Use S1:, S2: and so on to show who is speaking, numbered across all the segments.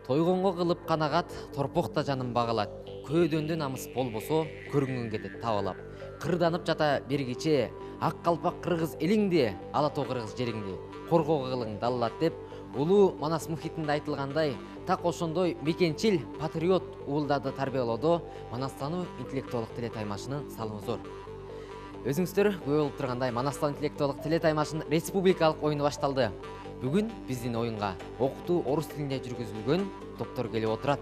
S1: Тойгонго кылып канагат, торпокта жаным багалат. Көөдөндө намыс болбосо, көрүнгөн кетет табалап. Кырданып жата бир кече, ак калпак кыргыз элиңди, ала тоо кыргыз жериңди. Коргоо кылың даллат деп, улуу Манас мухитинде айтылгандай, так ошондой мекенчил, патриот уулдарды тарбиялоодо Манастануу интеллектуалдык тиле таймашынын салымы зор. Өзүңүздөр күбө болуп тургандай, Манастан интеллектуалдык тиле таймашынын республикалык оюну башталды. Бүгүн биздин оюнга окутуу орус тилинде жүргүзүлгөн топтор келип отурат.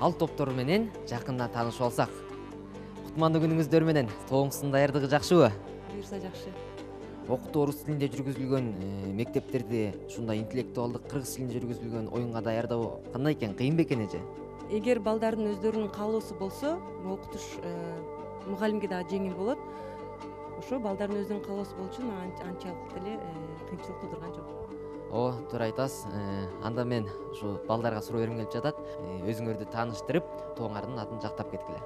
S1: Ал топтор менен жакындан таанышып алсак. Кутмандуу күнүңүздөр менен, тобуңуздун даярдыгы жакшыбы?
S2: Буюрса жакшы.
S1: Окутуу орус тилинде жүргүзүлгөн мектептерди ушундай интеллектуалдык кыргыз тилинде жүргүзүлгөн оюнга даярдоо кандай экен? Кыйын бекен эже?
S2: Эгер балдардын өздөрүнүн каалоосу болсо, окутуш мугалимге дагы жеңил болот. Ошо балдардын өзүнүн каалоосу болчу анчалык деле кыйынчылык туудурган жок.
S1: Ооба, туура айтасыз. Анда мен ушу балдарга суроо бергим келип жатат. Өзүңөрдү тааныштырып, тобуңардын атын жактап кеткиле.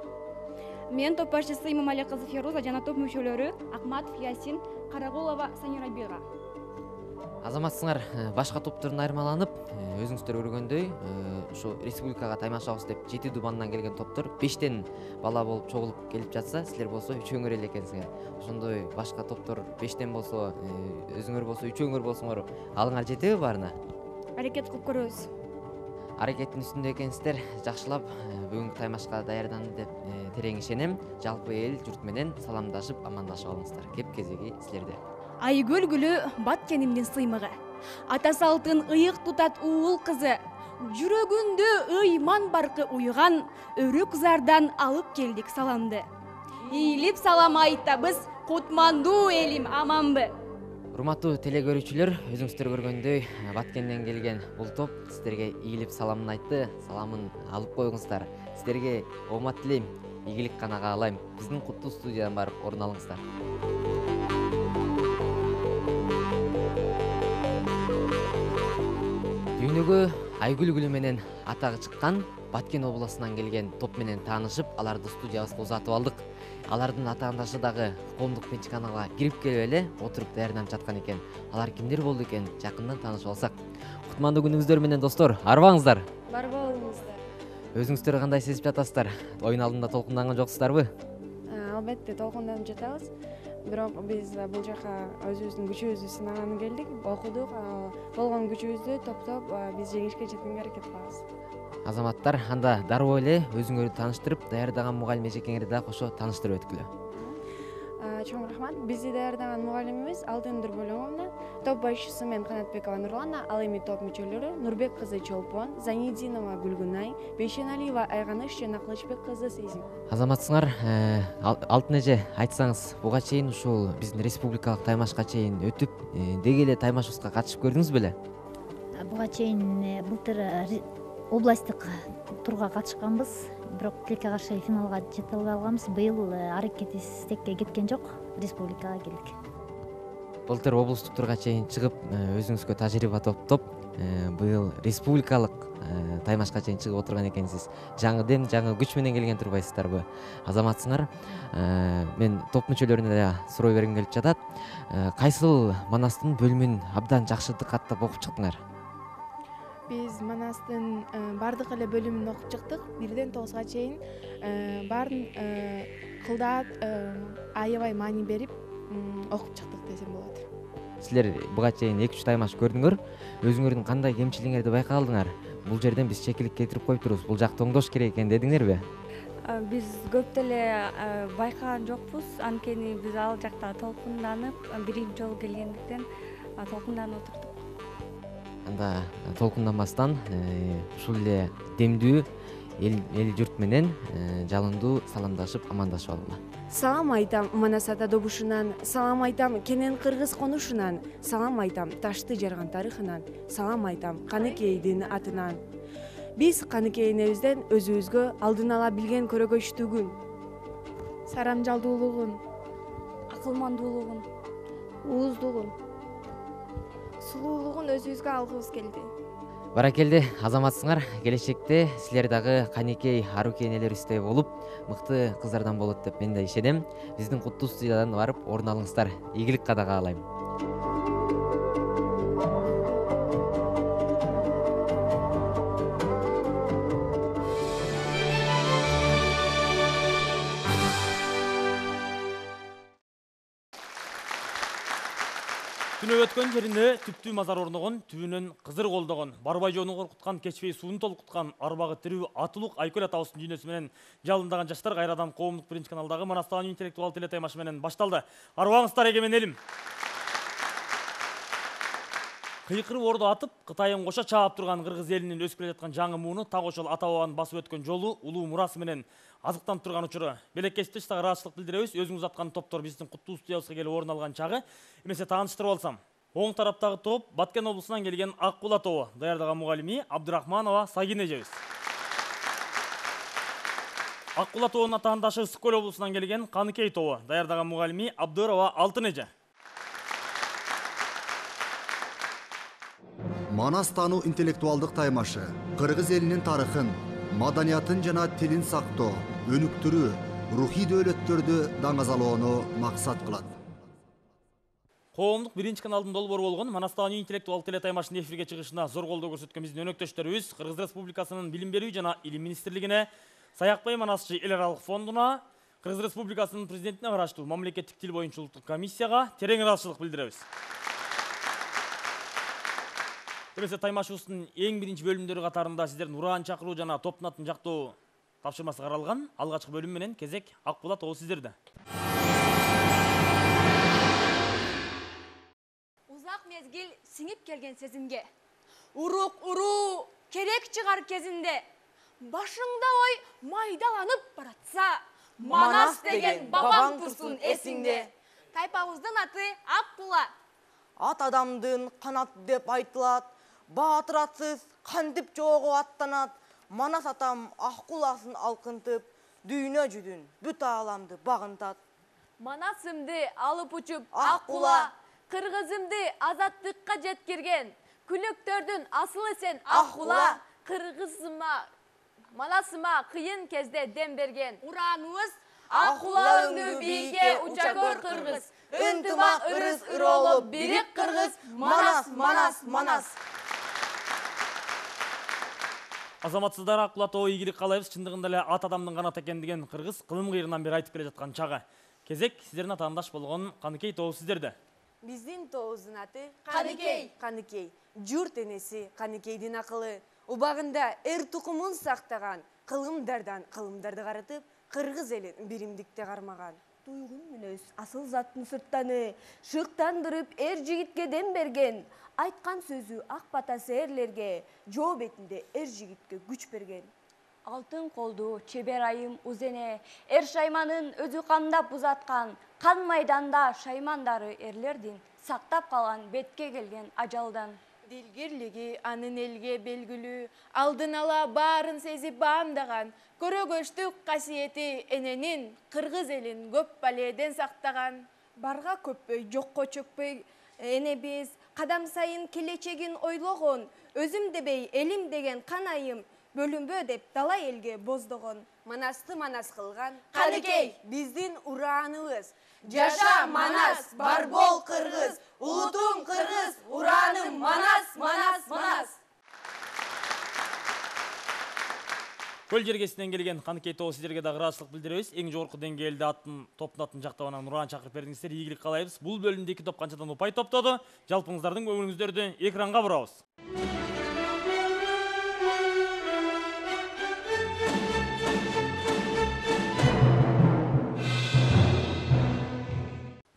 S3: Мен топ башчысы Имамали кызы Феруза жана топ мүчөлөрү Акматов Ясин, Карагулова Санира Бега.
S1: Азаматсыңар башка топтордон айырмаланып, өзүңүздөр көргөндөй, ушу республикага таймашабыз деп 7 дубандан келген топтор 5тен бала болуп чогулуп келип жатса, силер болсо 3өңөр эле экенсиңер. Ошондой башка топтор 5тен болсо, өзүңөр болсо 3өңөр болсоңор, алыңар жетеби баарына?
S3: Аракет кылып көрөбүз.
S1: Аракеттин үстүндө экенсиздер, жакшылап бүгүнкү таймашка даярданды деп терең ишенем. Жалпы эл журт менен саламдашып, амандашып алыңыздар. Кеп кезеги силерде.
S3: Айгүл гүлү Баткенимдин сыймыгы. Ата салтын ыйык тутат уул кызы. Жүрөгүндө ыйман баркы уйган, өрү кызардан алып келдик саламды. Ийилип салам айтабыз, кутмандуу элим аманбы.
S1: Урматтуу теле көрүүчүлөр, өзүңүздөр көргөндөй Баткенден келген бул топ сиздерге ийилип саламын айтты. Саламын алып коюңуздар. Сиздерге оомат тилейм, ийгилик гана каалайм. Биздин куттуу студиядан барып орун алыңыздар. Дүйнөгө Айгүл гүлү менен атагы чыккан Баткен областынан келген топ менен таанышып, аларды студиябызга узатып алдык. Алардын атаандашы дагы коомдук пенчканага кирип келип эле отуруп даярданып жаткан экен. Алар кимдер болду экен? Жакындан таанышып алсак. Кутмандуу күнүңүздөр менен достор, арбаңыздар.
S3: Бар болуңуздар.
S1: Өзүңүздөр кандай сезип жатасыздар? Оюн алдында толкунданган жоксуздарбы?
S4: Албетте толкунданып жатабыз. Бирок биз бул жака өзүбүздүн күчүбүздү сынаганы келдик, окудук. Болгон күчүбүздү топтоп биз жеңишке жеткенге аракет кылабыз.
S1: Азаматтар, анда дароо эле өзүңөрдү тааныштырып, даярдаган мугалим эжекеңерди дагы кошо тааныштырып өткүлө.
S4: Чоң рахмат. Бизди даярдаган мугалимибиз Алтын Нурбөлөңовна, топ башчысы мен Канатбекова Нурлана, ал эми топ мүчөлөрү Нурбек кызы Чолпон, Занидинова Гүлгүнай, Бейшеналиева Айганыш жана Кылычбек кызы Сезим.
S1: Азаматсыңар, Алтын эже, айтсаңыз, буга чейин ушул биздин республикалык таймашка чейин өтүп, деги эле таймашыбызга катышып көрдүңүз беле?
S5: Буга чейин былтыр областтык турга катышканбыз, бирок тилекке каршы финалга жете албай калганбыз. Быйыл аракетибиз текке кеткен жок, республикага келдик.
S1: Былтыр облустук турга чейин чыгып, өзүңүзгө тажрыйба топтоп, быйыл республикалык таймашка чейин чыгып отурган экенсиз. Жаңы дем, жаңы күч менен келген турбайсыздарбы? Азаматсыңар, мен топ мүчөлөрүнө да суроо бергим келип жатат. Кайсыл Манастын бөлүмүн абдан жакшы дыкаттап окуп чыктыңар?
S4: Биз Манастын бардык эле бөлүмүн окуп чыктык. 1ден 9га чейин баарын кылдаат, аябай маани берип окуп чыктык десем болот.
S1: Силер буга чейин 2-3 таймаш көрдүңөр. Өзүңөрдүн кандай кемчилигиңерди байкалдыңар? Бул жерден биз чекилик кетирип коюп турубуз. Бул жакты оңдош керек экен дедиңерби?
S6: Биз көп деле байкаган жокпуз. Анткени биз ал жакта толкунданып, биринчи жолу келгендиктен толкунданып отурдук.
S1: Анда толкунданбастан ушул эле демдүү эл журт менен жалындуу саламдашып, амандашып алгыла.
S4: Салам айтам Манас ата добушунан, салам айтам Кенен кыргыз конушунан, салам айтам ташты жарган тарыхынан, салам айтам Каныкейдин атынан. Биз Каныкейинебизден өзүбүзгө алдын ала билген көрөгөчтүгүн, сарамжалдуулугун,
S3: Акылмандуулугун,
S4: ууздугун, сулуулугун өзүбүзгө алгыбыз келди.
S1: Баракелде, азаматсыңар, келечекте силер дагы Каныкей аруу энелерибиздей болуп, мыкты кыздардан болот деп мен да ишенем. Биздин куттуу студиядан барып орун алыңыздар. Ийгилик гана каалайм.
S7: Түнөп өткөн жерине түптүү мазар орногон, түбүнөн кызыр колдогон, барбай жоону коркуткан, кечпей сууну толкуткан, арбагы тирүү Атылук Айкөл атабыздын дүйнөсү менен жалындаган жаштар кайрадан коомдук биринчи каналдагы Манастан интеллектуал телетаймашы менен башталды. Арбаңыздар эгемен элим. Кыйкырып орду атып, Кытайын коша чаап турган кыргыз элинин өсүп келе жаткан жаңы мууну так ошол ата бабанын басып өткөн жолу, улуу мурасы менен азыктанып турган учуру. Белеккечте сага ыраазычылык билдиребиз. Өзүңүз аткан топтор биздин куттуу студиябызга келип орун алган чагы. Эмесе тааныштырып алсам. Оң тараптагы топ Баткен облусунан келген Аккула тобу. Даярдаган мугалими Абдырахманова Сагин эжебиз. Аккула тобунун атаандашы Ысык Көл облусунан келген Каныкей тобу. Даярдаган мугалими Абдырова Алтын эже.
S8: Манастануу интеллектуалдык таймашы кыргыз элинин тарыхын, маданиятын жана тилин сактоо, өнүктүрүү, рухий дөөлөттөрдү даңазалоону максат кылат.
S7: Коомдук биринчи каналдын долбоору болгон Манастан интеллектуал телетаймашынын эфирге чыгышына зор колдоо көрсөткөн биздин өнөктөштөрүбүз Кыргыз Республикасынын Билим берүү жана Илим министрлигине, Саякбай Манасчы эл аралык фондуна, Кыргыз Республикасынын президентине караштуу мамлекеттик тил боюнча улуттук комиссияга терең ыраазычылык билдиребиз. Эмесе таймашыбыздын эң биринчи бөлүмдөрү катарында сиздердин ураан чакыруу жана топтун атын жактоо тапшырмасы каралган. Алгачкы бөлүм менен кезек Аккула тобу сиздерде.
S3: Узак мезгил сиңип келген сезимге, урук уруу керек чыгар кезинде, башыңда ой майдаланып баратса, Манас деген бабаң турсун эсиңде. Тайпабыздын аты Аккула.
S9: Ат адамдын канат деп айтылат, баатыр атсыз кантип жоого аттанат. Манас атам Аккуласын алкынтып, дүйнө жүзүн бүт ааламды багынтат.
S10: Манасымды алып учуп Аккула, кыргызымды азаттыкка жеткирген, күлөктөрдүн асылы сен Аккула, кыргызыма, Манасыма кыйын кезде дем берген.
S3: Урааныбыз
S10: Аккула өңдү бийикке уча көр кыргыз, ынтымак ырыс ыролуп бирик кыргыз, Манас, Манас, Манас.
S7: Азаматсыздар Аккула тобу ийгилик каалайбыз. Чындыгында эле ат адамдын канаты экен деген кыргыз кылым кыйрынан бери айтып келе жаткан чагы. Кезек сиздердин атаандаш болгон Каныкей тобу сиздерде.
S4: Биздин тобубуздун аты
S10: Каныкей.
S4: Каныкей. Журт энеси Каныкейдин акылы. Убагында эр тукумун сактаган, кылымдардан кылымдарды карытып, кыргыз элин биримдикте кармаган.
S11: Туйгун мүнөз асыл заттын сырттаны, шыктандырып эр жигитке дем берген. Айткан сөзү ак батасы эрлерге, жоо бетинде эр жигитке күч берген.
S6: Алтын колду чебер айым Узене, эр шайманын өзү кандап узаткан, кан майданда шаймандары эрлердин сактап калган бетке келген ажалдан.
S11: Дилгирлиги анын элге белгилүү, алдын ала баарын сезип баамдаган, көрөгөчтүк касиети эненин кыргыз элин көп баледен сактаган.
S2: Барга көппөй, жокко чөкпөй, эне биз кадам сайын келечегин ойлогон, өзүм дебей элим деген канайым, бөлүнбө деп дала элге боздогон.
S4: Манасты манас кылган
S10: Каныкей.
S4: Биздин урааныбыз.
S10: Жаша Манас, бар бол кыргыз, улутуң кыргыз, урааным Манас, Манас, Манас.
S7: Көл жергесинен келген Каныкей тобу сиздерге да ыраазычылык билдиребиз. Эң жогорку деңгээлде топтун атын жактап анан ураан чакырып бердиңиздер. Ийгилик каалайбыз. Бул бөлүмдө 2 топ канчадан упай топтоду. Жалпыңыздардын көңүлүңүздөрдү экранга бурабыз.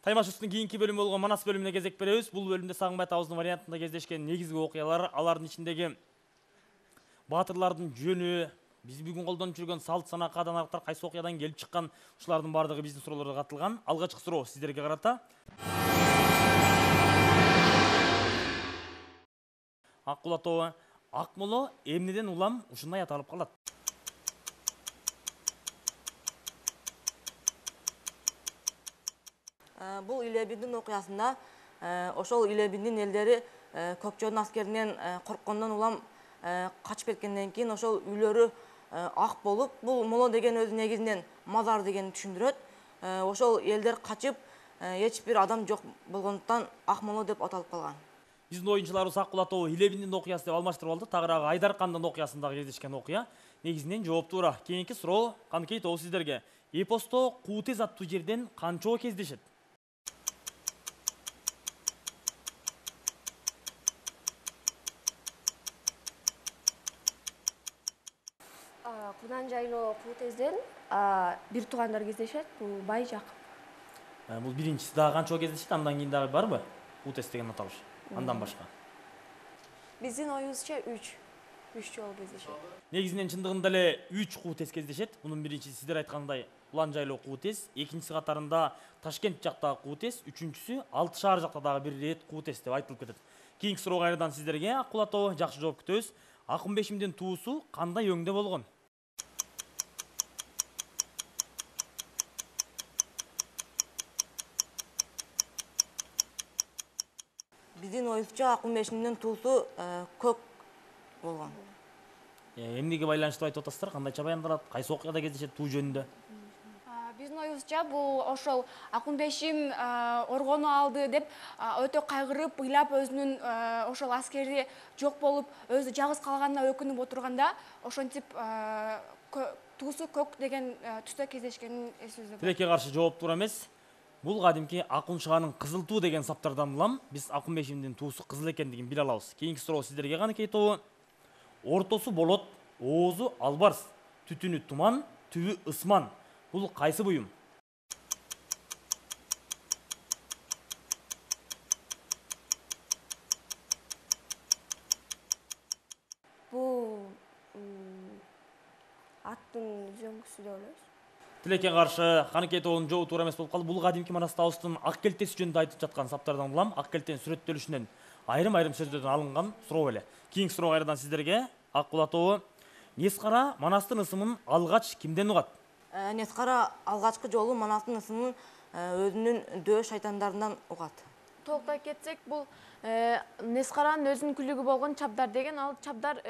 S7: Таймашыбыздын кийинки бөлүмү болгон Манас бөлүмүнө кезек беребиз. Бул бөлүмдө Сагынбай атабыздын вариантында кездешкен негизги окуялар, алардын ичиндеги баатырлардын жөнү, биз бүгүн колдонуп жүргөн салт сана кааданаттар кайсы окуядан келип чыккан, ушулардын баардыгы биздин суроолорго катылган. Алгачкы суроо сиздерге карата. Аккула тобу Акмоло эмнеден улам ушундай ат алып калат?
S9: Бул Илебиндин окуясында ошол Илебиндин элдери Көкчөнүн аскеринен корккондон улам качып кеткенден кийин ошол үйлөрү ак болуп, бул моло деген өзү негизинен мазар дегенди түшүндүрөт. Ошол элдер качып, эч бир адам жок болгондуктан ак моло деп аталып калган.
S7: Биздин оюнчуларыбыз Аккула тобу Илебиндин окуясы деп алмаштырып алды. Тагыраагы Айдар кандын окуясындагы кездешкен окуя. Негизинен жооптуу ура. Кийинки суроо Каныкей тобу сиздерге. Эпосто Куу тез аттуу жерден канчоо кездешет?
S4: Кыйкыроо Куутезден бир туугандар кездешет, бул Бай Жакып.
S7: Бул биринчиси дагы канча кездешет, андан кийин дагы барбы? Куутес деген аталыш. Андан башка.
S4: Биздин оюбузча 3 жолу кездешет.
S7: Негизинен чындыгында эле 3 Куутес кездешет. Мунун биринчиси сиздер айткандай Улан жайлоо Куутес, экинчиси катарында Ташкент жактагы Куутес, үчүнчүсү Алты шаар жакта дагы бир рет Куутес деп айтылып кетет. Кийинки суроо кайрадан сиздерге. Аккул атоо жакшы жооп күтөбүз. Акынбешимдин туусу кандай өңдө болгон?
S9: Биздин оюбузча Акынбешимдин туусу көк болгон.
S7: Эмнеге байланыштуу айтып атасыздар? Кандайча баяндалат? Кайсы окуяда кездешет туу жөнүндө?
S3: Биздин оюбузча бул ошол Акынбешим оргону алды деп өтө кайгырып, ыйлап өзүнүн ошол аскери жок болуп, өзү жалгыз калганына өкүнүп отурганда, ошентип туусу көк деген түстө кездешкенин эсибизде бар.
S7: Тилекке каршы жооп туура эмес. Бул кадимки Акун шаганын кызыл туу деген саптардан улам биз Акынбешимдин туусу кызыл экендигин биле алабыз. Кийинки суроо сиздерге каныкей тобу. Ортосу болот, оозу албарс, түтүнү туман, түбү ысман. Бул кайсы буюм?
S4: Бул аттын үзөңгүсү деп ойлойбуз.
S7: Тилекке каршы каныкей тобунун жообу туура эмес болуп калды. Бул кадимки Манас табыстын ак келтеси жөнүндө айтып жаткан саптардан улам ак келтенин сүрөттөлүшүнөн айрым сөздөрдөн алынган суроо эле. Кийинки суроо кайрадан сиздерге. Аккул атоо Нескара Манастын ысымын алгач кимден угат?
S9: Нескара алгачкы жолу Манастын ысымын өзүнүн дөө шайтандарынан угат.
S11: Толуктай кетсек, бул Нескаранын өзүнүн күлүгү болгон Чабдар деген, ал Чабдар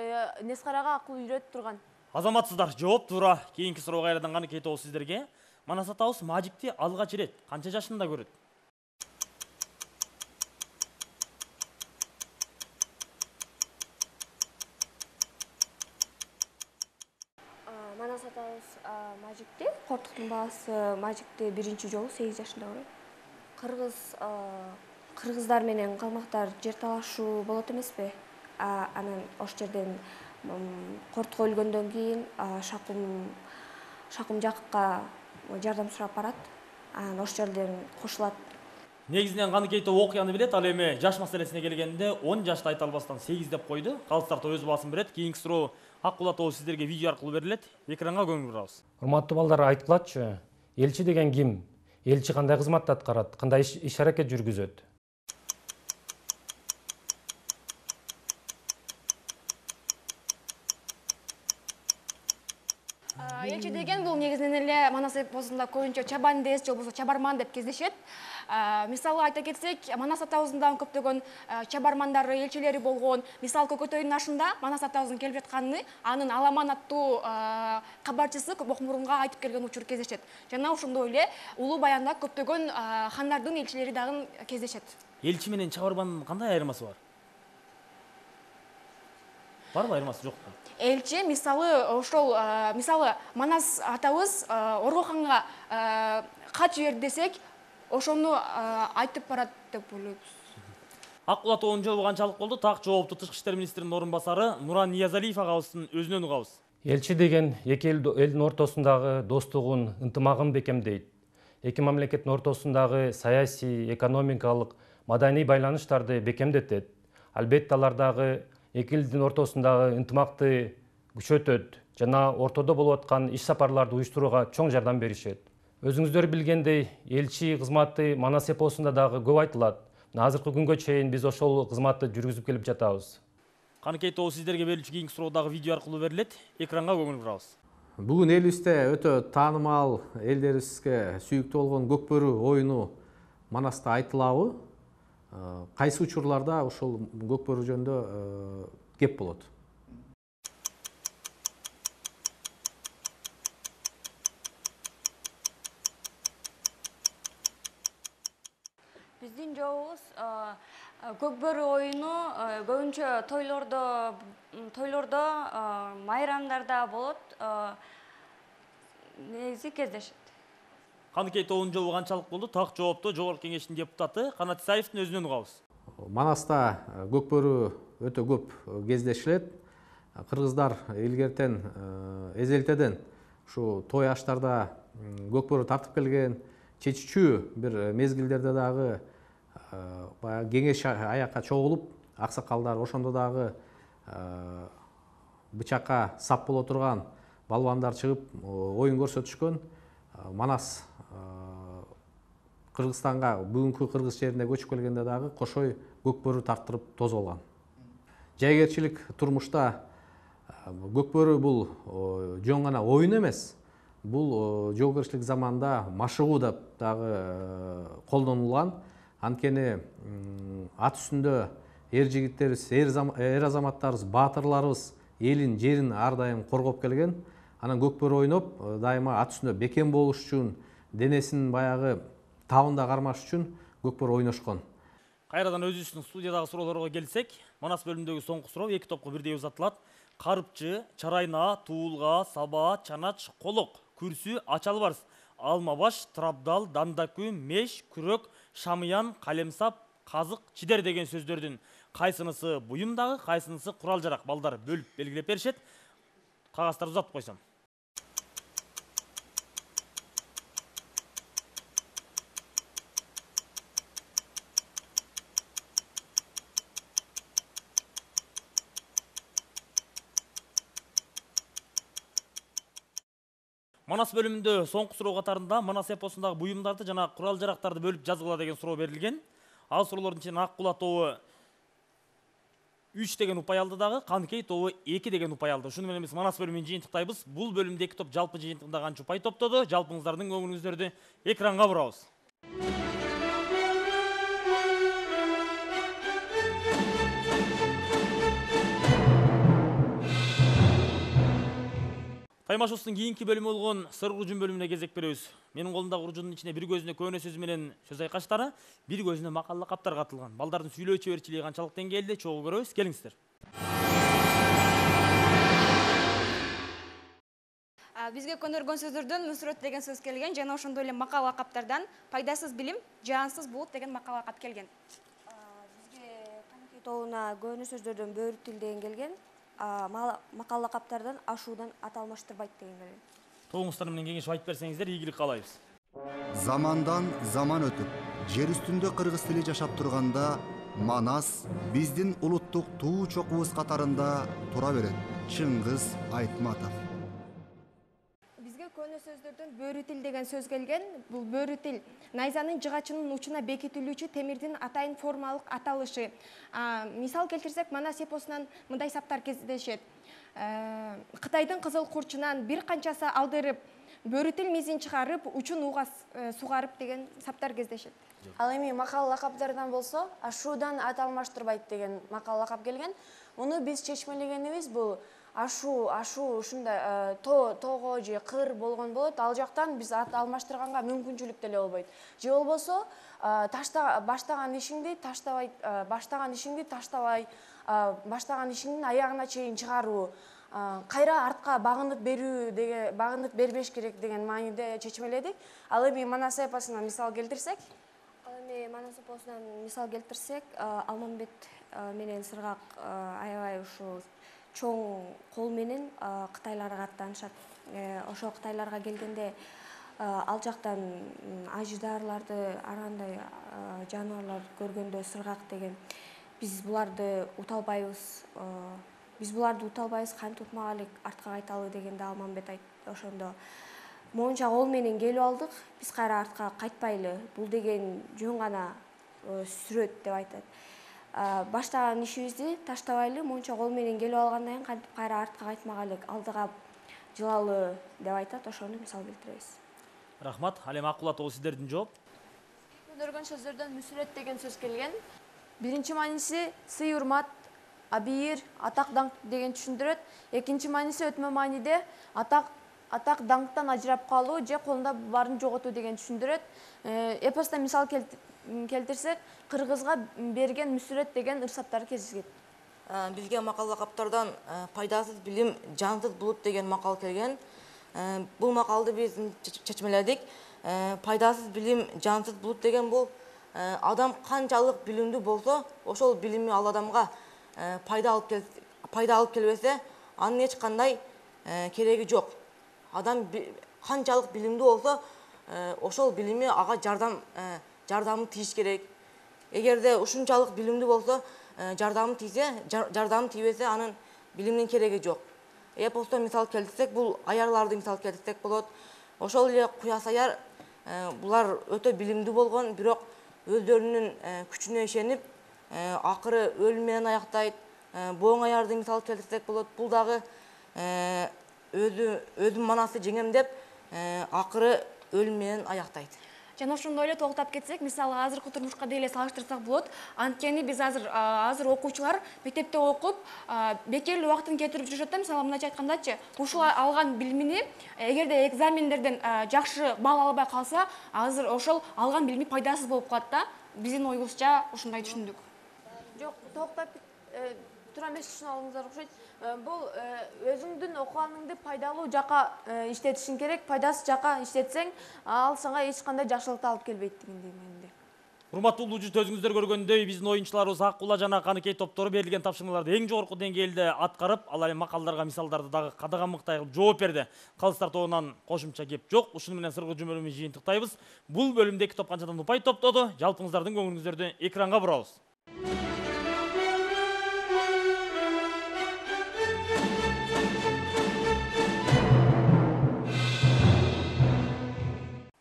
S11: Нескарага акыл үйрөтүп турган.
S7: Азаматсыздар, жооп туура. Кийинки суроо кайрадан каныкей тобу сиздерге. Манас атабыз Мажикти алгач ирет канча жашында көрөт?
S4: Манас атабыз Мажикти, Кортуктун баасы Мажикти биринчи жолу 8 жашында көрөт. Кыргыздар менен калмактар жер талашуу болот эмеспи? Анан ош жерден Кортук өлгөндөн кийин Шакум Жакыпка жардам сурап барат. Анан ош жерден кошулат.
S7: Негизинен каныкей тобу окуяны билет, ал эми жаш маселесине келгенде 10 жашты айта албастан 8 деп койду. Калыстар өз баасын берет. Кийинки суроо Аккул атоо сиздерге видео аркылуу берилет. Экранга көңүл бурабыз.
S12: Урматтуу балдар, айткылачы, элчи деген ким? Элчи кандай кызматты аткарат? Кандай иш аракет жүргүзөт?
S3: Элчи деген бул негизинен эле Манас эпосунда көбүнчө чабандес же болбосо чабарман деп кездешет. Мисалы айта кетсек, Манас атабыздын дагы көптөгөн чабармандары, элчилери болгон. Мисалы Көкөтөйдүн ашында Манас атабыздын келип жатканын анын Аламан аттуу кабарчысы Бокмурунга айтып келген учур кездешет. Жана ошондой эле улуу баянда көптөгөн хандардын элчилери дагы кездешет.
S7: Элчи менен чабармандын кандай айырмасы бар? Барбы айырмасы, жокпу?
S3: Элчи мисалы Манас атабыз Оргоханга кат жиберди десек, ошону айтып барат деп ойлойбуз.
S7: Аккул атоонун жообу канчалык болду? Так жоопту Тышкы иштер министринин орун басары Нуран Ниязалиев агабыздын өзүнөн угабыз.
S12: Элчи деген эки элдин ортосундагы достугун, ынтымагын бекемдейт. Эки мамлекеттин ортосундагы саясий, экономикалык, маданий байланыштарды бекемдетет. Албетте алардагы эки элдин ортосундагы ынтымакты күчөтөт жана ортодо болуп аткан иш сапарларды уюштурууга чоң жардам беришет. Өзүңүздөр билгендей, элчи кызматы Манас эпосунда дагы көп айтылат. Азыркы күнгө чейин биз ошол кызматты жүргүзүп келип жатабыз.
S7: Каныкей тобу сиздерге берилчү кийинки суроо дагы видео аркылуу берилет. Экранга көңүл бурабыз.
S13: Бүгүн элибизде өтө таанымал, элдерибизге сүйүктүү болгон Көкбөрү оюну Манаста айтылабы? Кайсы учурларда ошол Көкбөрү жөнүндө кеп болот?
S6: Биздин жообубуз Көкбөрү оюну көбүнчө тойлордо, майрамдарда болот, негизи кездешет.
S7: Каныкей тобунун жообу канчалык болду? Так жоопту Жогорку Кеңештин депутаты Канат Исаевдин өзүнөн угабыз.
S13: Манаста Көкбөрү өтө көп кездешилет. Кыргыздар илгертен, эзелтеден ушу той аштарда көкбөрү тартып келген, чечүүчү бир мезгилдерде дагы баягы кеңеш аякка чогулуп, аксакалдар ошондо дагы бычакка сап боло турган балбандар чыгып оюн көрсөтүшкөн. Манас Кыргызстанга бүгүнкү Кыргыз жерине көчүп келгенде дагы кошой көкбөрү тарттырып тосуп алган. Жайгерчилик турмушта көкбөрү бул жөн гана оюн эмес, бул жоогерчилик заманда машыгуу деп дагы колдонулган. Анткени ат үстүндө эр жигиттерибиз, эр азаматтарыбыз, баатырларыбыз элин, жерин ар дайым коргоп келген. Анан көкбөрү ойноп, дайыма ат үстүндө бекем болуш үчүн, денесин баягы табында кармаш үчүн көкбөрү ойношкон.
S7: Кайрадан өзүбүздүн студиядагы суроолорго келсек, Манас бөлүмүндөгү соңку суроо эки топко бирдей узатылат. Карыпчы, чарайна, туулга, саба, чанач, колок, күрсү, ачалбарс, алмабаш, трабдал, дандакү, меш, күрөк, шамыян, калемсап, казык, чидер деген сөздөрдүн кайсынысы буюмдагы, кайсынысы курал жарак балдар бөлүп белгилеп беришет. Кагаздарды узатып койсом. Манас бөлүмүндө соңку суроо катарында Манас эпосундагы буюмдарды жана курал жарактарды бөлүп жазгыла деген суроо берилген. Ал суроолордун ичинен Ак Кула тобу 3 деген упай алды дагы, Каныкей тобу 2 деген упай алды. Ушуну менен биз Манас бөлүмүн жыйынтыктайбыз. Бул бөлүмдө эки топ жалпы жыйынтыгында канча упай топтоду? Жалпыңыздардын көңүлүңүздөрдү экранга бурабыз. Таймашыбыздын кийинки бөлүмү болгон сыр уружун бөлүмүнө кезек беребиз. Менин колумдагы уружундун ичине бир көзүнө көөнө сөзү менен сөз айкаштары, бир көзүнө макал лакаптар катылган. Балдардын сүйлөө чеберчилиги канчалык деңгээлде чогуу көрөбүз. Келиңиздер.
S14: Бизге көнөргөн сөздөрдөн мүсүрөт деген сөз келген, жана ошондой эле макал лакаптардан пайдасыз билим, жансыз булут деген макал лакап келген.
S6: Бизге Каныкей тобуна көөнө сөздөрдөн бөрү тил деген келген. Макал лакаптардан ашуудан ат алмаштырбайт деген келген.
S7: Тобуңуздар менен кеңешип айтып берсеңиздер ийгилик каалайбыз.
S8: Замандан заман өтүп, жер үстүндө кыргыз тили жашап турганда, Манас биздин улуттук туу чокубуз катарында тура берет. Чыңгыз Айтматов.
S11: Бизге көөнө сөздөрдөн бөрү тил деген сөз келген. Бул бөрү тил найзанын жыгачынын учуна бекитилүүчү темирдин атайын формалык аталышы. Мисал келтирсек, Манас эпосунан мындай саптар кездешет. Кытайдын кызыл курчунан бир канчасы алдырып, бөрү тил мизин чыгарып, учун ууга сугарып деген саптар кездешет.
S4: Ал эми макал лакаптардан болсо, ашуудан ат алмаштырбайт деген макал лакап келген. Муну биз чечмелегенибиз бул ашуу ушундай тоого же кыр болгон болот. Ал жактан биз ат алмаштырганга мүмкүнчүлүк деле болбойт. Же болбосо баштаган ишиңди таштабай, баштаган ишиңдин аягына чейин чыгаруу, кайра артка багынып бербеш керек деген мааниде чечмеледик. Ал эми Манас эпосунан мисал келтирсек,
S6: Алмамбет менен Сыргак аябай ушу чоң кол менен кытайларга аттанышат. Ошо кытайларга келгенде ал жактан аждаарларды, ар кандай жаныбарлар көргөндө Сыргак деген биз буларды уталбайбыз, кантип утмак элек, артка кайталы дегенде Алмамбет айтты. Ошондо моунча кол менен келип алдык, биз кайра артка кайтпайлы, бул деген жөн гана сүрөт деп айтат. Баштаган ишибизди таштабайлы, моунча кол менен келип алгандан кийин кантип кайра артка кайтмак элек, алдыга жылалы деп айтат. Ошону мисал келтиребиз.
S7: Рахмат. Ал эми Ак Кула тобу сиздердин жооп.
S11: Көнөргөн сөздөрдөн мүсүрөт деген сөз келген. Биринчи мааниси сый урмат, абийир, атак даңк деген түшүндүрөт. Экинчи мааниси өтмө мааниде атак даңктан ажырап калуу же колунда баарын жоготуу деген түшүндүрөт. Эпоста мисал келтирсек, кыргызга берген мүсүрөт деген ырсаттары кезигет.
S9: Бизге макал лакаптардан пайдасыз билим, жансыз булут деген макал келген. Бул макалды биз чечмеледик. Пайдасыз билим, жансыз булут деген бул адам канчалык билимдүү болсо, ошол билими ал адамга пайда алып келбесе, анын эч кандай кереги жок. адам канчалык билимдүү болсо, ошол билими ага жардамы тийиш керек. Эгерде ушунчалык билимдүү болсо, жардамы тийбесе, анын билимдин кереги жок. Эпостон мисал келтирсек, бул аярларды мисал келтирсек болот. Ошол эле Куяс аяр, булар өтө билимдүү болгон, бирок өздөрүнүн күчүнө ишенип, акыры өлүм менен аяктай. Боң аярды мисал келтирсек болот. Бул дагы өзүн манасы жеңем деп, акыры өлүм менен аяктайт.
S14: Жана ошондой эле токтоп кетсек, мисалы азыркы турмушка деле салыштырсак болот. Анткени биз азыр окуучулар мектепте окуп, бекер убактын кетирип жүрүшөт да, мисалы мындайча айткандачы, ушул алган билимини эгерде экзамендерден жакшы балл албай калса, азыр ошол алган билими пайдасыз болуп калат да. Биздин оюбузча ушундай түшүндүк.
S10: Жок, токтоп тура эмес түшүнүп алыңыздар окшойт. Бул өзүңдүн окуганыңды пайдалуу жака иштетишиң керек, пайдасыз жака иштетсең, ал сага эч кандай жакшылыкты алып келбейт дегендей менде.
S7: Урматтуу улуучу, өзүңүздөр көргөндөй биздин оюнчуларыбыз Аккула жана Каныкей топтору берилген тапшырмаларды эң жогорку деңгээлде аткарып, ал эми макалдарга, мисалдарды дагы кадаган мыктай кылып жооп берди. Калыстар тобунан кошумча кеп жок. Ушуну менен сыргы жумөлүмүздү жыйынтыктайбыз. Бул бөлүмдө 2 топ канчадан упай топтоду. Жалпыңыздардын көңүлүңүздөрдү экранга бурабыз.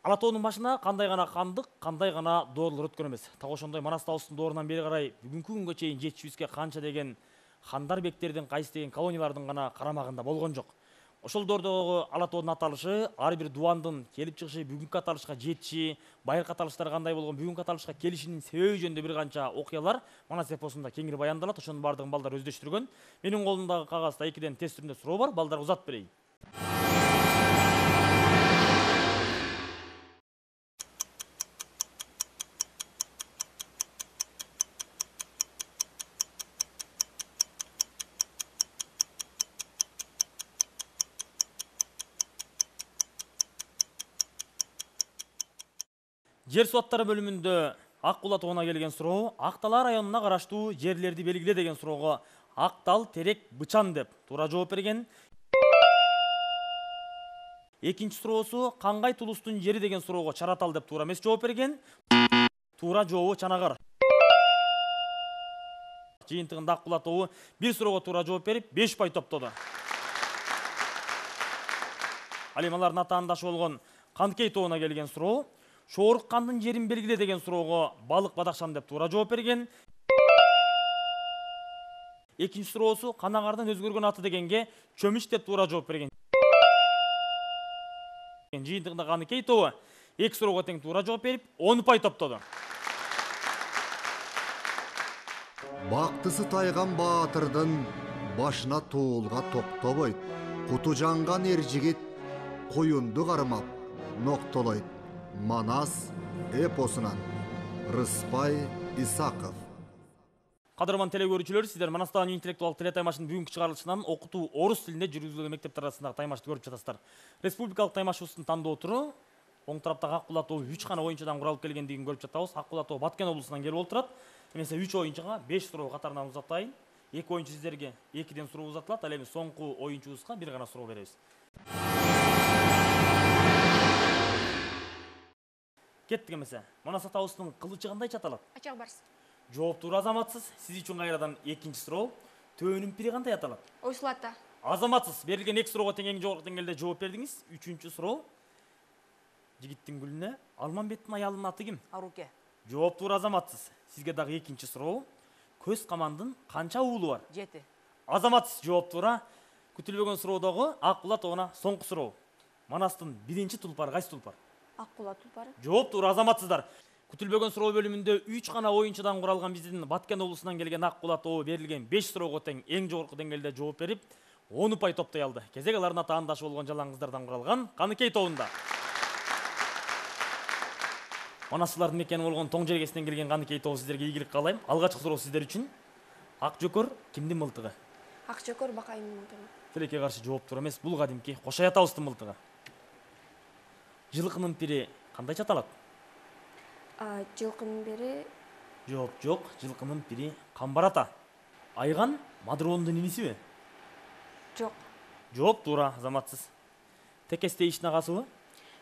S7: Ала тоонун башына кандай гана кандык, кандай гана доорлор өткөн эмес. Так ошондой Манас табыстын доорунан бери карай бүгүнкү күнгө чейин жетишибизге канча деген хандар бектердин, кайсы деген колониялардын гана карамагында болгон жок. Ошол доордогу ала тоонун аталышы, ар бир дубандын келип чыгышы, бүгүнкү аталышка жетиши, байыркы аталыштар кандай болгон, бүгүнкү аталышка келишинин себеби жөнүндө бир канча окуялар Манас эпосунда кеңири баяндалат. Ошонун баардыгын балдар өздөштүргөн. Менин колумдагы кагазда 2ден тест түрүндө суроо бар. Балдарга узатып берейин. Жер суаттары бөлүмүндө Аккула тоонуна келген суроо: Актала районуна караштуу жерлерди белгиле деген суроого Актал, Терек, Бычан деп туура жооп берген. Экинчи суроосу кангай тулустун жери деген суроого Чаратал деп туура эмес жооп берген. Туура жообу Чанагар. Жыйынтыгында Аккула тобу бир суроого туура жооп берип 5 упай топтоду. Ал эми алардын атаандашы болгон Каныкей тобуна келген суроо: Шоорук кандын жерин белгиле деген суроого Балык Бадакшан деп туура жооп берген. Экинчи суроосу Канагардын өзгөргөн аты дегенге Чөмүч деп туура жооп берген. Жыйынтыгында Каныкей тобу 2 суроого тең туура жооп берип 10 упай топтоду.
S8: Бактысы тайган баатырдын башына туулга токтобойт. Куту жанган эр жигит коюнду кармап ноктолойт. Манас эпосунан Рыспай Исаков.
S7: Кадырман теле көрүүчүлөр, сиздер Манастагы интеллектуалдык теле таймашынын бүгүнкү чыгарылышынан окутуу орус тилинде жүргүзүлгөн мектептер арасындагы таймашты көрүп жатасыздар. Республикалык таймашыбыздын тандоо туру оң тараптагы Аккула тобу 3 гана оюнчудан куралып келгендигин көрүп жатабыз. Аккула тобу Баткен облусунан келип отурат. Эмесе 3 оюнчуга 5 суроо катарынан узатайын. 2 оюнчу сиздерге 2ден суроо узатылат. Ал эми соңку оюнчубузга бир гана суроо беребиз. Кеттик эмесе. Манас атабыздын кылычы кандай аталат?
S14: Ачак барс.
S7: Жооп туура, азаматсыз. Сиз үчүн кайрадан экинчи суроо. Төөнүн пири кандай аталат?
S14: Ойсул ата.
S7: Азаматсыз. Берилген 2 суроого тең эң жогорку деңгээлде жооп бердиңиз. 3-үчү суроо. Жигиттин гүлүнө Алмамбеттин аялынын аты ким?
S9: Аруке.
S7: Жооп туура, азаматсыз. Сизге дагы экинчи суроо. Көз камандын канча уулу бар?
S9: 7.
S7: Азаматсыз. Жооп туура. Күтүлбөгөн суроодогу Аккула тобуна соңку суроо. Манастын биринчи тулпары кайсы тулпар?
S14: Аккула тулпары.
S7: Жооп туура, азаматсыздар. Күтүлбөгөн суроо бөлүмүндө 3 гана оюнчудан куралган биздин Баткен облусунан келген Аккула тобу берилген 5 суроого тең эң жогорку деңгээлде жооп берип 10 упай топтой алды. Кезек алардын атаандашы болгон жалаңыздардан куралган Каныкей тобунда. Манасчылардын мекени болгон Тоң жергесинен келген Каныкей тобу сиздерге ийгилик каалайм. Алгачкы суроо сиздер үчүн. Ак жөкөр кимдин мылтыгы?
S11: Ак жөкөр Бакайдын мылтыгы.
S7: Тилекке каршы жооп туура эмес. Бул кадимки Кошай атабыздын мылтыгы. Жылкынын пири кандайча аталат?
S11: Жылкынын бири
S7: Жооп жок. Жылкынын пири Камбар ата. Айган Мадыроонун инисиби?
S11: Жок.
S7: Жооп туура, азаматсыз. Текесте иштин агасыбы?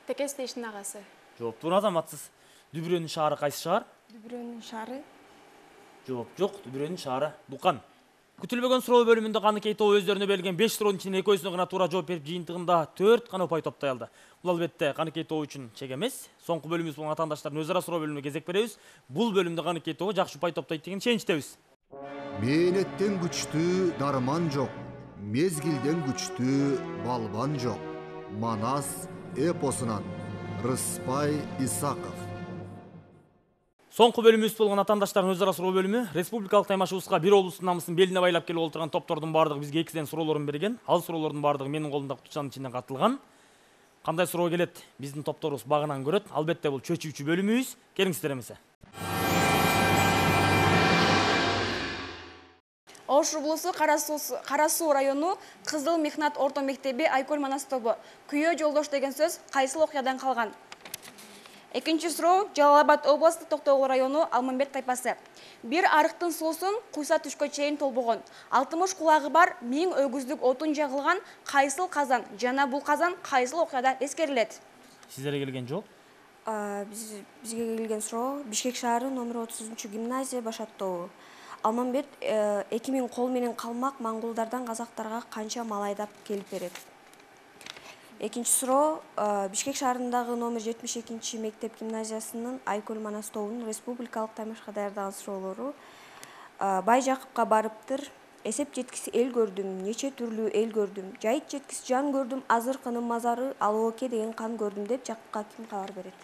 S10: Текесте иштин агасы.
S7: Жооптуу азаматсыз. Дүбүрөнүн шаары кайсы шаар?
S11: Дүбүрөнүн шаары.
S7: Жооп жок, Дүбүрөнүн шаары Дукан. Күтүлбөгөн суроо бөлүмүндө Каныкей тобу өздөрүнө берилген 5 суроонун ичинен экөөсүнө гана туура жооп берип, жыйынтыгында 4 гана упай топтой алды. Бул албетте Каныкей тобу үчүн чек эмес. Соңку бөлүмүбүз болгон атаандаштардын өз ара суроо бөлүмүнө кезек беребиз. Бул бөлүмдө Каныкей тобу жакшы упай топтойт деген ишеничтебиз.
S8: Мээнеттен күчтүү дарман жок, мезгилден күчтүү балбан жок. Манас эпосунан Рыспай Исаков.
S7: Соңку бөлүмүбүз болгон атаандаштардын өз ара суроо бөлүмү республикалык таймашыбызга бир облустун намысын белине байлап келип олтурган топтордун баардыгы бизге экиден суроолорун берген. Ал суроолордун баардыгы менин колумдагы кутучанын ичинен катылган. Кандай суроо келет? Биздин топторубуз багынан көрөт. Албетте бул чөчүүчү бөлүмүбүз. Келиңиздер эмесе.
S14: Ош облусу Кара Суу району Кызыл Мехнат орто мектеби Айкөл Манас тобу. Күйөө жолдош деген сөз кайсыл окуядан калган? Экинчи суроо Жалал Абад областы Токтогул району Алмамбет тайпасы. Бир арыктын суусун куйса түшкө чейин толбогон. 60 кулагы бар 1000 өгүздүк отун жагылган кайсыл казан жана бул казан кайсыл окуяда эскерилет?
S7: Сиздерге келген жооп?
S6: Бизге келген суроо Бишкек шаары номер 30 гимназия баш аттоо. Алмамбет 2000 кол менен калмак моңголдардан казактарга канча мал айдап келип берет? Экинчи суроо Бишкек шаарындагы номер 72 мектеп гимназиясынын Айкөл Манас тобунун республикалык таймашка даярдаган суроолору. Бай Жакыпка барыптыр, эсеп жеткис эл көрдүм, нече түрлүү эл көрдүм, жайыт жеткис жан көрдүм, азыркынын мазары Алооке деген кан көрдүм деп Жакыпка ким кабар берет?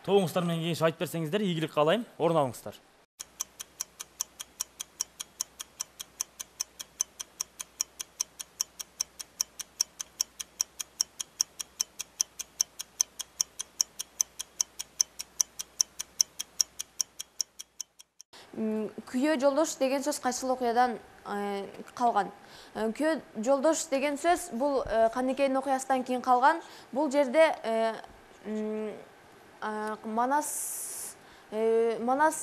S7: Тобуңуздар менен кеңеш айтып берсеңиздер, ийгилик каалайм. Орун алыңыздар.
S10: Күйөө жолдош деген сөз кайсыл окуядан калган? Күйөө жолдош деген сөз бул Каныкейдин окуясынан кийин калган. Бул жерде Манас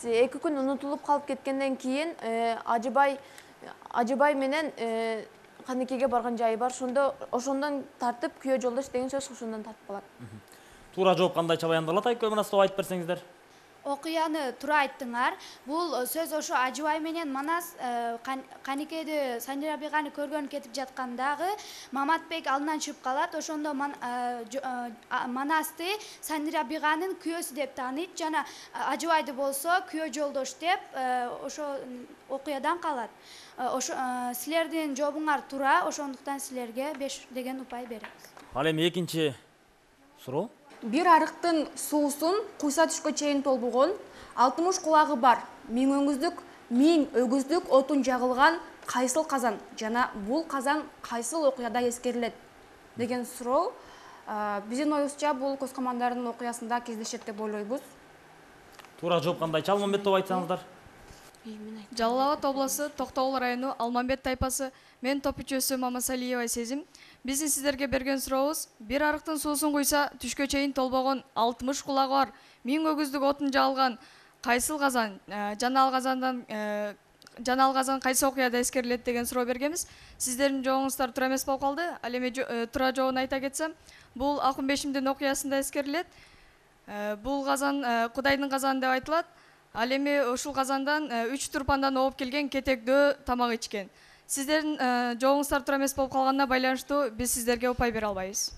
S10: эки күн унутулуп калып кеткенден кийин Ажыбай менен Каныкейге барган жайы бар. Ошондон тартып күйөө жолдош деген сөз ошондон тартып калат.
S7: Туура жооп кандайча баяндалат? Айкөл Манас тобу айтып берсеңиздер.
S3: Окуяны туура айттыңар. Бул сөз ошо Ажыбай менен Манас Каныкейде Санжарабиганы көргөн кетип жаткандагы Маматбек алдынан чыгып калат. Ошондо Манасты Санжарабиганын күйөөсү деп тааныйт жана Ажыбайды болсо күйөө жолдош деп ошо окуядан калат. Ошо силердин жообуңар туура, ошондуктан силерге 5 деген упай беребиз.
S7: Ал эми экинчи суроо.
S14: Бир арыктын суусун куйса түшкө чейин толбогон, 60 кулагы бар 1000 өңүздүк, 1000 өгүздүк отун жагылган кайсыл казан жана бул казан кайсыл окуяда эскерилет деген суроо. Биздин оюбузча бул Көз Камандардын окуясында кездешет деп ойлойбуз.
S7: Туура жооп кандайча? Алмамбет тобу айтсаңыздар.
S15: Жалал Абад областы Токтогул району Алмамбет тайпасы. Мен топ мүчөсү Мамасалиева Сезим. Биздин сиздерге берген сурообуз: бир арыктын суусун куйса түшкө чейин толбогон, 60 кулагы бар 1000 өгүздүк отун жагылган кайсыл казан жана ал казан кайсы окуяда эскерилет деген суроо бергенбиз. Сиздердин жообуңуздар туура эмес болуп калды. Ал эми туура жообун айта кетсем, бул Акунбешимдин окуясында эскерилет. Бул казан Кудайдын казаны деп айтылат. Ал эми ушул казандан 3 турпандан ооп келген кетектөө тамак ичкен. Сиздердин жообуңуздар туура эмес болуп калганына байланыштуу биз сиздерге упай бере албайбыз.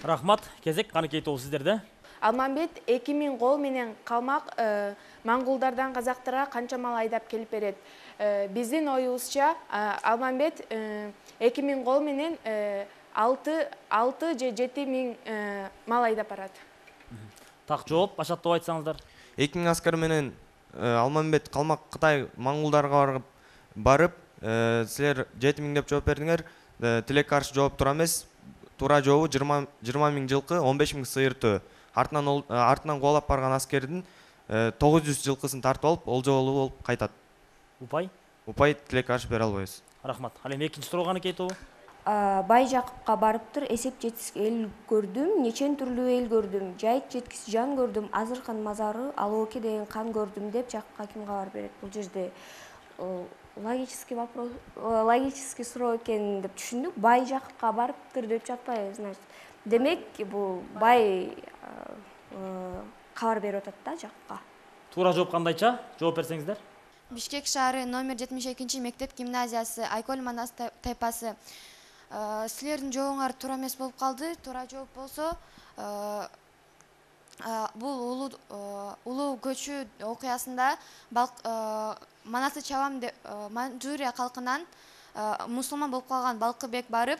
S7: Рахмат. Кезек Каныкей тобу сиздерде.
S10: Алмамбет 2000 кол менен калмак моңголдардан казактарга канча мал айдап келип берет? Биздин оюбузча Алмамбет 2000 кол менен 6 же 7000 мал айдап барат.
S7: Так жооп, башат топ айтсаңыздар.
S16: 2000 аскар менен Алмамбет калмак Кытай моңголдарга барып, силер 7000 деп жооп бердиңер. Тилек каршы жооп туура эмес. Туура жообу 20 000 жылкы, 15 000 сыйыртуу. Артынан куулап барган аскердин 900 жылкысын тартып алып, олжолуу болуп кайтат.
S7: Упай?
S16: Упай тилек каршы бере албайбыз.
S7: Рахмат. Ал эми экинчи суроо Каныкей тобу.
S6: Бай Жакыпка барыптыр, эсеп жеткис эл көрдүм, нечен түрлүү эл көрдүм, жайыт жеткис жан көрдүм, азыркын мазары Алооке деген кан көрдүм деп Жакыпка ким кабар берет? Бул жерде логический суроо экен деп түшүндүк. Бай Жакыпка барыптыр деп жатпайбыз, значит. демек бул бай кабар берип атат да жакка.
S7: Туура жооп кандайча? Жооп берсеңиздер.
S10: Бишкек шаары номер 72 мектеп гимназиясы, Айкөл Манас тайпасы. Силердин жообуңар туура эмес болуп калды. Туура жооп болсо, бул улуу көчүү окуясында Манасты чабам деп Манчжурия калкынан мусулман болуп калган Балкыбек барып,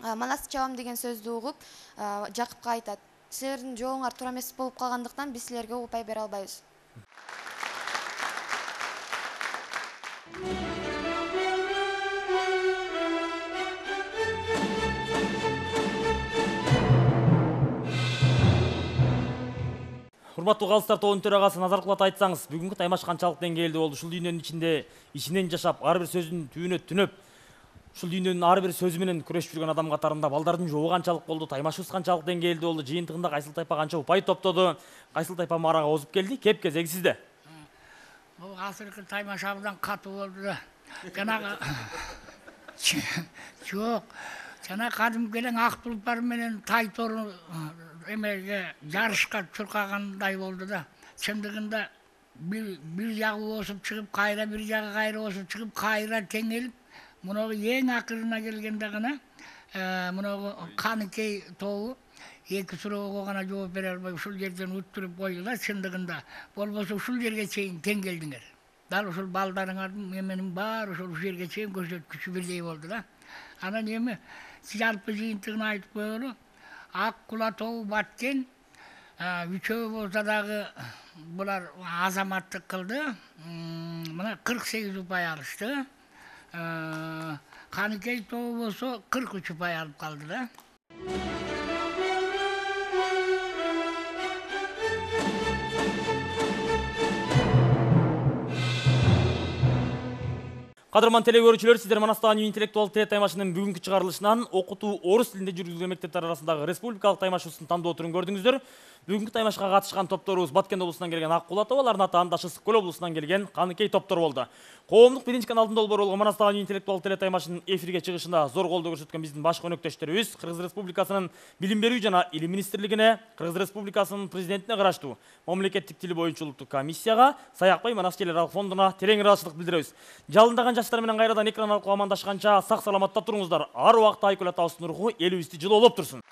S10: Манасты чабам деген сөздү угуп, Жакыпка айтат. Силердин жообуңар туура эмес болуп калгандыктан биз силерге упай бере албайбыз.
S7: Урматтуу калыстар тобунун төрагасы Назаркулат айтсаңыз, бүгүнкү таймаш канчалык деңгээлде болду? Ушул дүйнөнүн ичинде ичинен жашап, ар бир сөзүн түбүнө түнөп, ушул дүйнөнүн ар бир сөзү менен күрөшүп жүргөн адам катарында балдардын жообу канчалык болду? Таймашыбыз канчалык деңгээлде болду? Жыйынтыгында кайсыл тайпа канча упай топтоду? Кайсыл тайпа марага озуп келди? Кеп кезеги сизде.
S17: Бул азыркы таймаш абдан катуу болду да. Жанагы жок. Жана кадимки эле ак тулпар менен тай тору эмеге жарышка чуркагандай болду да. Чындыгында бир жагы осуп чыгып, кайра бир жагы кайра осуп чыгып, кайра теңелип, муногу эң акырына келгенде гана муногу Каныкей тобу эки суроого гана жооп бере албай ушул жерден уттуруп койду да. Чындыгында болбосо ушул жерге чейин тең келдиңер. Дал ушул балдарыңардын эменин баары ушул жерге чейин көрсөткүчү бирдей болду да. Анан эми жалпы жыйынтыгын айтып коелу. Ак кула тобу баткен, үчөө болсо дагы булар азаматтык кылды. Мына 48 упай алышты. Каныкей тобу болсо 43 упай алып калды да.
S7: Кадырман теле көрүүчүлөр, сиздер Манастагы интеллектуалдык теле таймашынын бүгүнкү чыгарылышынан окутуу орус тилинде жүргүзүлгөн мектептер арасындагы республикалык таймашыбыздын тандоо турун көрдүңүздөр. Бүгүнкү таймашка катышкан топторубуз Баткен облусунан келген Ак Кула тобу, алардын аты андашы Ысык Көл облусунан келген Каныкей топтор болду. Коомдук биринчи каналдын долбоору болгон Манастагы интеллектуалдык теле таймашынын эфирге чыгышында зор колдоо көрсөткөн биздин башкы өнөктөштөрүбүз Кыргыз Республикасынын Билим берүү жана Илим министрлигине, Кыргыз Республикасынын президентине караштуу мамлекеттик тил боюнча улуттук комиссияга, Саякбай Манас Телералык фондуна терең ыраазычылык билдиребиз. Жалындаган жаштар менен кайрадан экран аркылуу амандашканча сак саламатта туруңуздар. Ар убакта Айкөл атабыздын руху элибизди жылоолоп турсун.